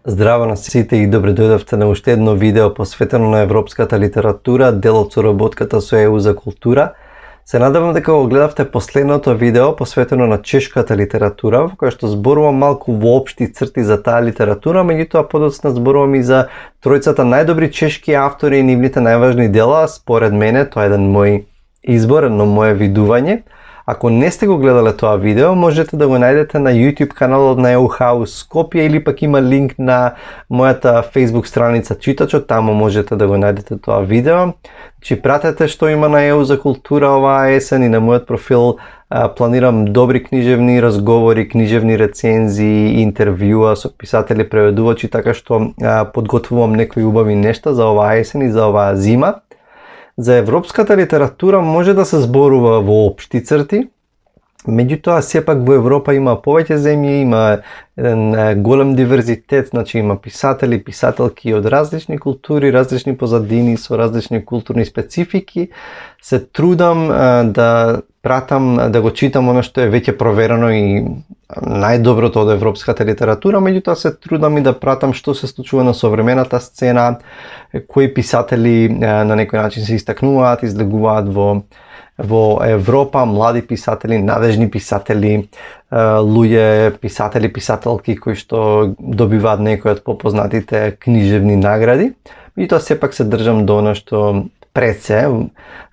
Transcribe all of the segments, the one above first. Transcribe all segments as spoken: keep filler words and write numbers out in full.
Здраво на сите и добре дојдовте на уште едно видео посветено на европската литература, дел од соработката со Е У за култура. Се надевам дека го гледавте последното видео посветено на чешката литература, во кое што зборувам малку во општи црти за таа литература, меѓутоа подоцна зборувам и за тројцата најдобри чешки автори и нивните најважни дела. Според мене тоа е еден мој избор, едно мое видување. Ако не сте го гледале тоа видео, можете да го најдете на YouTube каналот на Е У Хаус Скопје или пак има линк на мојата Facebook страница Читачот, таму можете да го најдете тоа видео. Значи пратете што има на Е У за култура оваа есен и на мојот профил а, планирам добри книжевни разговори, книжевни рецензии, интервјуа со писатели, преведувачи, така што а, подготвувам некои убави нешта за оваа есен и за оваа зима. За европската литература може да се зборува во општи црти, меѓутоа сепак во Европа има повеќе земји, има еден голем диверзитет, значи има писатели, писателки од различни култури, различни позадини со различни културни специфики. Се трудам а, да пратам, да го читам оно што е веќе проверено и најдоброто од европската литература, меѓутоа се трудам и да пратам што се случува на современата сцена, кои писатели а, на некој начин се истакнуваат, излегуваат во во Европа, млади писатели, надежни писатели, луѓе, писатели, писателки кои што добиваат некои од попознатите книжевни награди. И тоа сепак се држам до она што пред се,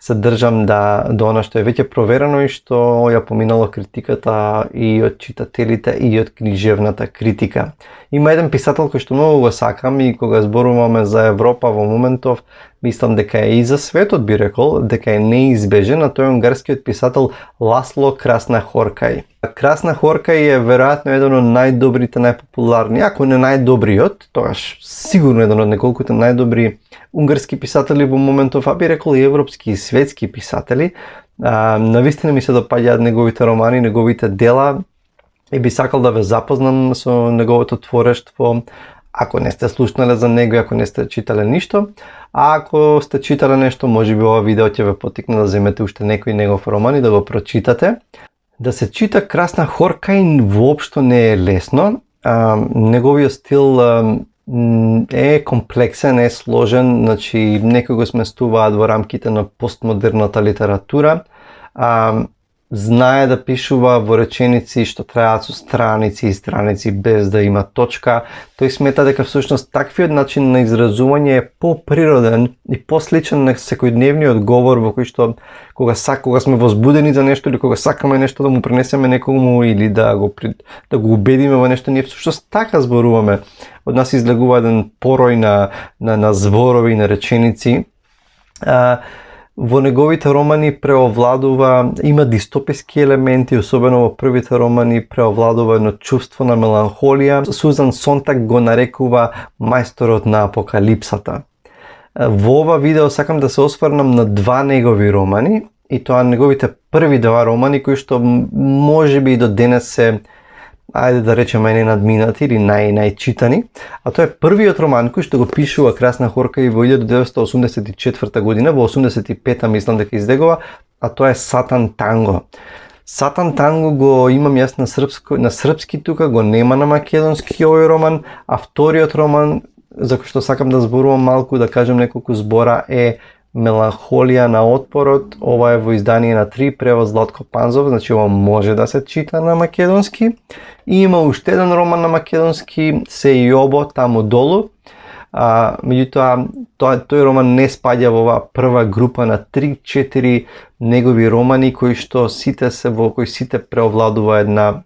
се држам да, до она што е веќе проверено и што ја поминало критиката и од читателите и од книжевната критика. Има еден писател кој што многу го сакам и кога зборуваме за Европа во моментов, мислам дека е и за светот, би рекол, дека е неизбежен, а тој е унгарскиот писател Ласло Краснахоркај. Краснахоркај е веројатно еден од најдобрите, најпопуларни, ако не најдобриот, тогаш сигурно еден од неколкуте најдобри унгарски писатели во моментов, а би рекол и европски и светски писатели. А, навистина ми се допаѓаат неговите романи, неговите дела и би сакал да ве запознам со неговото творештво. Ако не сте слушнале за него, ако не сте читале ништо, а ако сте читале нешто, можеби ова видео ќе ве потикне да земете уште некој негов роман и да го прочитате. Да се чита Краснахоркај воопшто не е лесно. А, неговиот стил а, е комплексен, е сложен, значи некои го сместуваат во рамките на постмодерната литература. А, знае да пишува во реченици што трајаат со страници и страници без да има точка. Тој смета дека всушност таквиот начин на изразување е поприроден и посличен на секојдневниот говор во кој што кога сак, кога сме возбудени за нешто или кога сакаме нешто да му пренесеме некому или да го да го убедиме во нешто, ние всушност така зборуваме. Од нас излегува еден порој на на, на зборови и на реченици. А, Во неговите романи преовладува, има дистописки елементи, особено во првите романи преовладува едно чувство на меланхолија. Сузан Сонтак го нарекува мајсторот на апокалипсата. Во ова видео сакам да се осврнам на два негови романи, и тоа неговите први два романи кои што можеби и до денес се, ајде да речеме, ненадминати или нај најчитани, а тоа е првиот роман кој што го пишува Краснахоркај во илјада деветстотини осумдесет и четврта година, во осумдесет и пета мислам дека излегува, а тоа е Сатан Танго. Сатан Танго го имам јас на српско, на српски тука, го нема на македонски овој роман, а вториот роман за кој што сакам да зборувам малку, да кажем неколку збора, е Меланхолија на отпорот. Ова е во издание на три, превод Златко Панзов, значи ова може да се чита на македонски. И има уште еден роман на македонски, Се Јобо таму долу. А, меѓутоа, тој, тој роман не спаѓа во оваа прва група на три-четири негови романи кои што сите се во кои сите преовладува една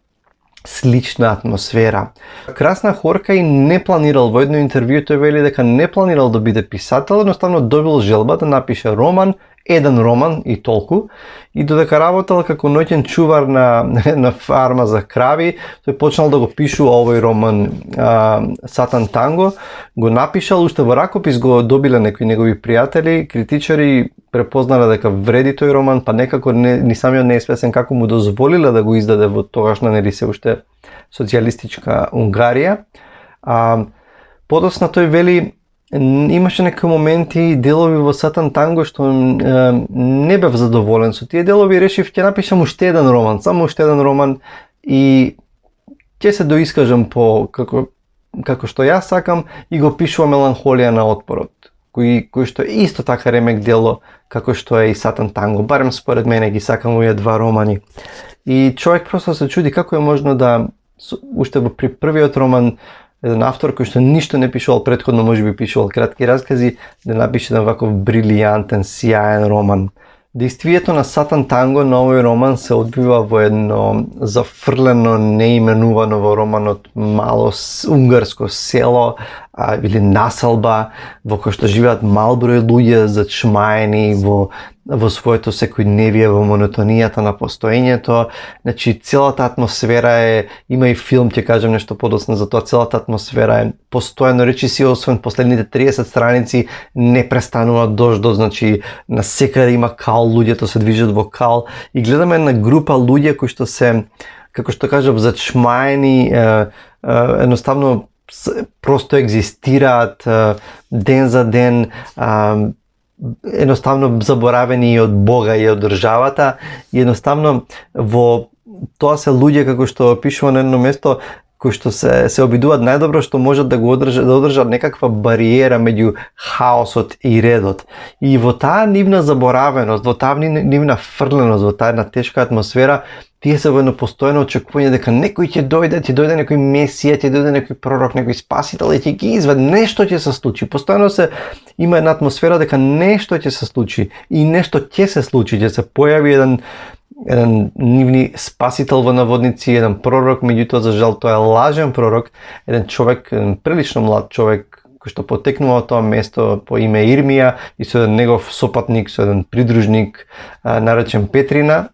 слична атмосфера. Краснахоркај не планирал, во едно интервју тој вели дека не планирал да биде писател, едноставно добил желба да напише роман, еден роман и толку, и додека работел како ноќен чувар на на фарма за крави, тој почнал да го пишува овој роман а, Сатан Танго, го напишал, уште во ракопис го добиле некои негови пријатели, критичари препознале дека вреди тој роман, па некако не, ни самиот не е свесен како му дозволиле да го издаде во тогашна, нели се уште социјалистичка Унгарија. А, подоцна тој вели, имаше некои моменти и делови во Сатан Танго што е, не бев задоволен со тие делови, решив ќе напишам уште еден роман, само уште еден роман и ќе се доискажам по како како што јас сакам, и го пишува Меланхолија на отпорот, кој, кој што е исто така ремек дело, како што е и Сатан Танго. Барем според мене ги сакам овие два романи. И човек просто се чуди како е можно да, уште при првиот роман, еден автор кој што ништо не пишувал претходно, може би пишувал кратки разкази, да напише еден ваков брилијантен, сјаен роман. Действието на Сатан Танго на овој роман се одвива во едно зафрлено, неименувано во романот мало унгарско село а, или населба, во кој што живеат мал број луѓе зачмаени во во своето секојдневие, во монотонијата на постоењето. Значи, целата атмосфера е, има и филм, ќе кажам нешто подоцна за тоа, целата атмосфера е постојано, речи си, освен последните триесет страници, не престанува дождот, значи, насекаде има кал, луѓето се движат во кал, и гледаме една група луѓе кои што се, како што кажам, зачмаени, е, е, едноставно, просто екзистираат е, ден за ден, е, едноставно заборавени и од Бога и од државата, и едноставно во тоа се луѓе, како што пишува на едно место, кои што се се обидуваат најдобро што можат да го одржат, да одржат некаква бариера меѓу хаосот и редот. И во таа нивна заборавеност, во таа нивна фрленост, во таа една тешка атмосфера, тие се во едно постојано очекување дека некој ќе дојде, ќе дојде некој месија, ќе дојде некој пророк, некој спасител и ќе ги извади, нешто ќе се случи. Постојано се има една атмосфера дека нешто ќе се случи и нешто ќе се случи, ќе се појави еден еден нивни спасител во наводници, еден пророк, меѓутоа за жал тоа е лажен пророк, еден човек, еден прилично млад човек кој што потекнува од тоа место по име Ирмија и со еден негов сопатник, со еден придружник наречен Петрина,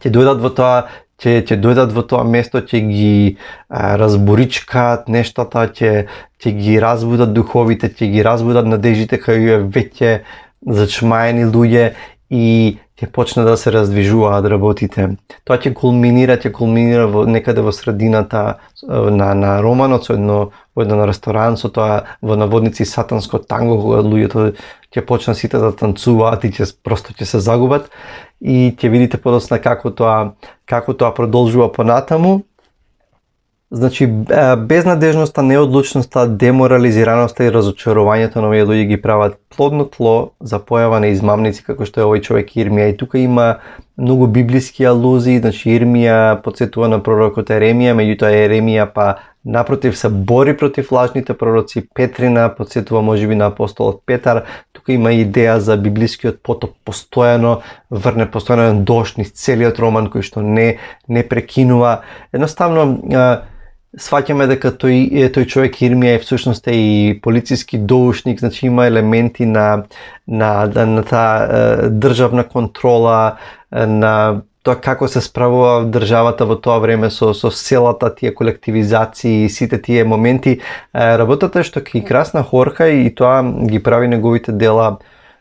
ќе дојдат во тоа, ќе ќе дојдат во тоа место, ќе ги а, разборичкаат нештата, ќе ќе ги разбудат духовите, ќе ги разбудат надежите кај овие веќе зачмаени луѓе и ќе почне да се раздвижуваат работите. Тоа ќе кулминира, ќе кулминира во некаде во средината на на романот, со едно во еден ресторан, со тоа во наводници сатанско танго, кога луѓето ќе почнат сите да танцуваат и ќе просто ќе се загубат, и ќе видите подоцна како тоа како тоа продолжува понатаму. Значи, безнадежноста, неодлучноста, деморализираноста и разочарувањето на овие луѓе ги прават плодно тло за појава на измамници како што е овој човек Ирмија. И тука има многу библиски алузии, значи Ирмија потсетува на пророкот Еремија, меѓутоа Еремија па напротив се бори против лажните пророци. Петрина потсетува можеби на апостолот Петар. Тука има идеја за библискиот потоп, постојано врне, постојано дожд низ целиот роман кој што не не прекинува. Едноставно сваќаме дека тој тој човек Ирмија е всушност е и полициски доушник, значи има елементи на на на, на таа државна контрола, на тоа како се справува државата во тоа време со со селата, тие колективизации и сите тие моменти. Работата што ки Красна Хорка и тоа ги прави неговите дела,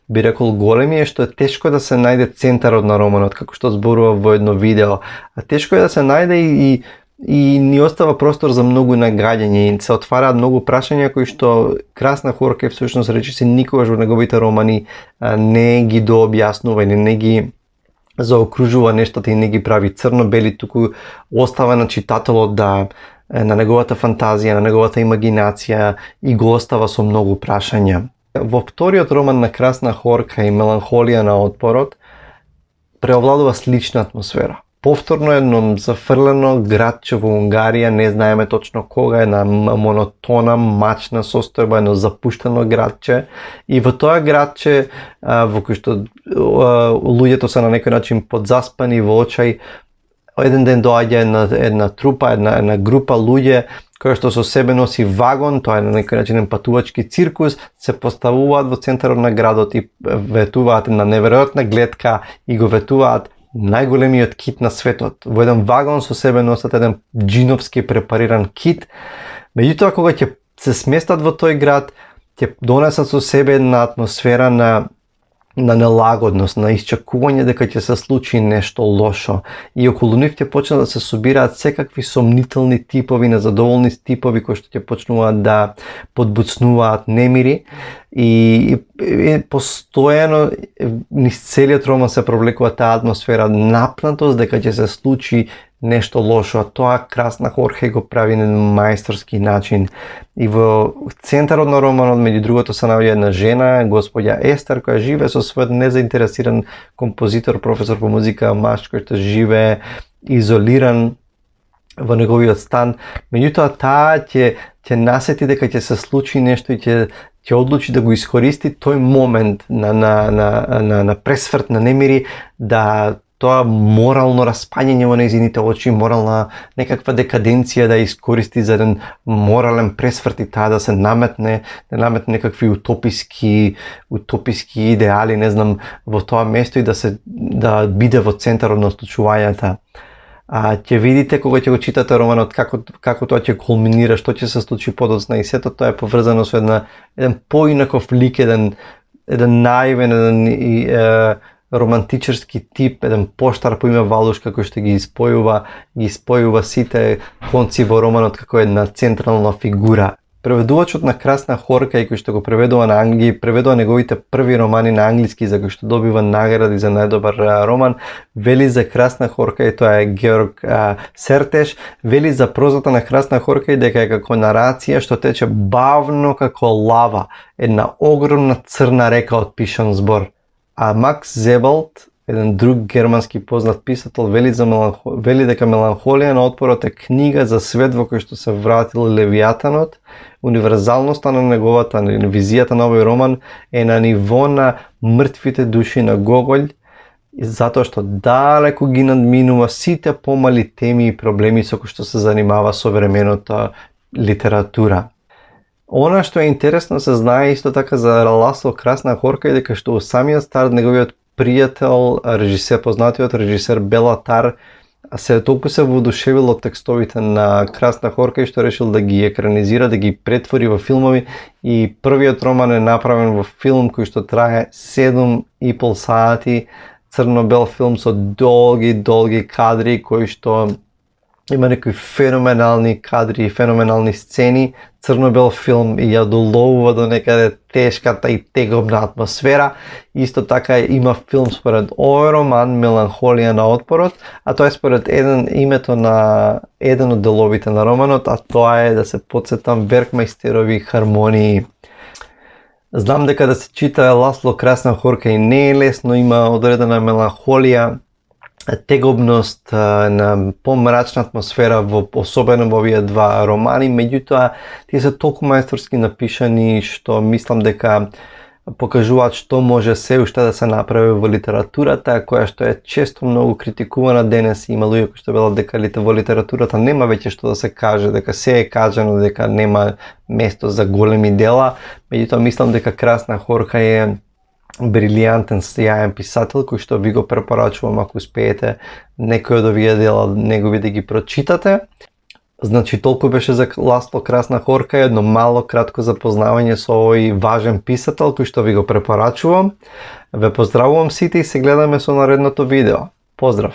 би рекол, големи, е што е тешко да се најде центарот на романот, како што зборува во едно видео. А тешко е да се најде и и ни остава простор за многу нагаѓање и се отвараат многу прашања кои што Красна Хорка всушност речи се никогаш во неговите романи не ги дообјаснува или не ги заокружува нештата и не ги прави црно-бели, туку остава на читателот да на неговата фантазија, на неговата имагинација и го остава со многу прашања. Во вториот роман на Красна Хорка и Меланхолија на отпорот преовладува слична атмосфера. Повторно едно зафрлено градче во Унгарија, не знаеме точно кога, е на монотона, мачна состојба, едно запуштено градче. И во тоа градче, во кој што луѓето се на некој начин подзаспани во очај, еден ден доаѓа една, една трупа, една, една група луѓе, која што со себе носи вагон, тоа е на некој начин патувачки циркус, се поставуваат во центарот на градот и ветуваат на неверојатна гледка и го ветуваат најголемиот кит на светот. Во еден вагон со себе носат еден джиновски препариран кит. Меѓутоа, кога ќе се сместат во тој град, ќе донесат со себе една атмосфера на на нелагодност, на исчекување дека ќе се случи нешто лошо. И околу нив ќе почнат да се собираат секакви сомнителни типови, незадоволни типови кои што ќе почнуваат да подбуцнуваат немири. и, и постојано низ целиот роман се провлекува таа атмосфера, напнатост дека ќе се случи нешто лошо, а тоа Красна Хорхе го прави на мајсторски начин. И во центарот на романот, меѓу другото, се наоѓа една жена, господја Естер, која живее со својот незаинтересиран композитор, професор по музика, маж кој што живее изолиран во неговиот стан. Меѓутоа таа ќе ќе насети дека ќе се случи нешто и ќе ќе одлучи да го искористи тој момент на на на на, на пресврт, на немири, да тоа морално распаѓање во нејзините очи, морална некаква декаденција да искористи за еден морален пресврт и таа да се наметне, да наметне некакви утописки, утописки идеали, не знам, во тоа место и да се да биде во центарот на случувањата. А ќе видите кога ќе го читате романот како како тоа ќе кулминира, што ќе се случи подоцна и сето тоа е поврзано со една еден поинаков лик, еден еден наивен, еден и, е, романтичарски тип, еден поштар по име Валушка кој што ги испојува, ги испојува сите конци во романот како една централна фигура. Преведувачот на Красна Хорка, и кој што го преведува на англиски, преведува неговите први романи на англиски за кој што добива награди за најдобар роман, вели за Красна Хорка, и тоа е Георг а, Сертеш, вели за прозата на Красна Хорка и дека е како нарација што тече бавно како лава, една огромна црна река од пишан збор. А Макс Зебалт, еден друг германски познат писател, вели, за меланхо... вели дека Меланхолија на отпорот е книга за свет во кој што се вратил Левијатанот. Универзалноста на неговата, на визијата на овој роман е на ниво на мртвите души на Гоголј, затоа што далеку ги надминува сите помали теми и проблеми со кои што се занимава современата литература. Она што е интересно се знае исто така за Ласло Красна Хорка е дека што во самиот старт неговиот пријател, режисер, познатиот режисер Бела Тар се толку се воодушевил од текстовите на Красна Хорка и што решил да ги екранизира, да ги претвори во филмови, и првиот роман е направен во филм кој што трае седум и пол сати, црно-бел филм со долги, долги кадри кои што има некои феноменални кадри и феноменални сцени, црно-бел филм и ја доловува до некаде тешката и тегобна атмосфера. Исто така има филм според овој роман Меланхолија на отпорот, а тоа е според еден името на еден од деловите на романот, а тоа е, да се потсетам, Веркмајстерови хармонии. Знам дека да се чита Ласло Красна Хорка и не е лесно, има одредена меланхолија, тегобност, на помрачна атмосфера, во, особено во овие два романи, меѓутоа тие се толку мајсторски напишани што мислам дека покажуваат што може се уште да се направи во литературата, која што е често многу критикувана денес. Има луѓе кои што велат дека во литературата нема веќе што да се каже, дека се е кажано, дека нема место за големи дела. Меѓутоа мислам дека Красна Хорка е брилијантен, сјаен писател кој што ви го препорачувам ако успеете некој од овие дела негови да ги прочитате. Значи толку беше за Ласло Красна Хорка, едно мало кратко запознавање со овој важен писател кој што ви го препорачувам. Ве поздравувам сите и се гледаме со наредното видео. Поздрав!